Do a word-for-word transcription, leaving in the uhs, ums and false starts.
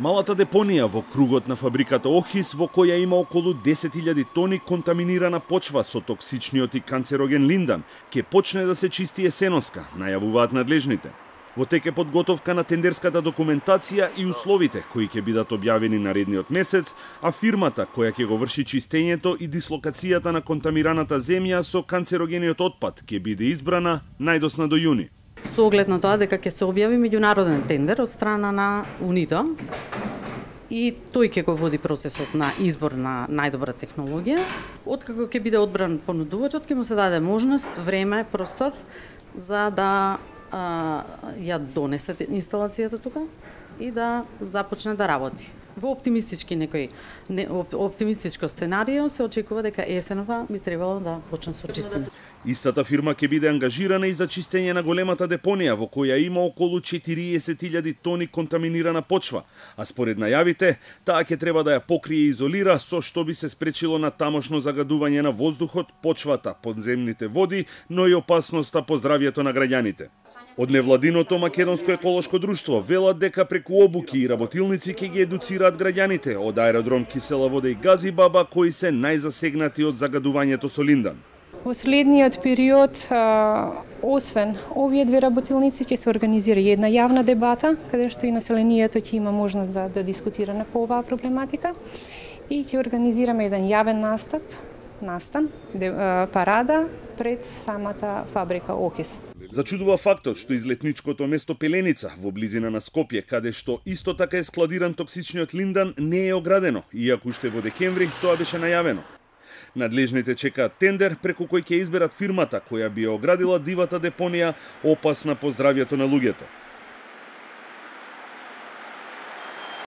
Малата депонија во кругот на фабриката Охис, во која има околу десет илјади тони контаминирана почва со токсичниот и канцероген линдан, ќе почне да се чисти есеноска, најавуваат надлежните. Во тек е подготовка на тендерската документација и условите кои ќе бидат објавени наредниот месец, а фирмата која ќе го врши чистењето и дислокацијата на контамираната земја со канцерогениот отпад ќе биде избрана најдосна до јуни. Со оглед на тоа дека ќе се објави меѓународен тендер од страна на УНИДО и тој ќе го води процесот на избор на најдобра технологија, откако ќе биде одбран понудувачот, ќе му се даде можност, време, простор за да а, ја донесе инсталацијата тука и да започне да работи. Во оптимистички некој не, оптимистичко сценарио се очекува дека есенова би требало да почне со чистење. Истата фирма ќе биде ангажирана и за чистење на големата депонија во која има околу четириесет илјади тони контаминирана почва, а според најавите, таа ќе треба да ја покрие и изолира, со што би се спречило на тамошно загадување на воздухот, почвата, подземните води, но и опасноста по здравјето на граѓаните. Од невладиното Македонско еколошко друштво велат дека преку обуки и работилници ќе ги едуцираат граѓаните од аеродром Кисела вода и Газибаба кои се најзасегнати од загадувањето со линдан. Во следниот период, освен овие две работилници, ќе се организира една јавна дебата, каде што и населението ќе има можност да, да дискутира на по оваа проблематика и ќе организираме еден јавен настап, настан, парада пред самата фабрика Охис. Зачудува фактот што излетничкото место Пеленица во близина на Скопје, каде што исто така е складиран токсичниот линдан, не е оградено, иако уште во декември тоа беше најавено. Надлежните чекаат тендер преку кој ќе изберат фирмата која би ја оградила дивата депонија, опасна по здравјето на луѓето.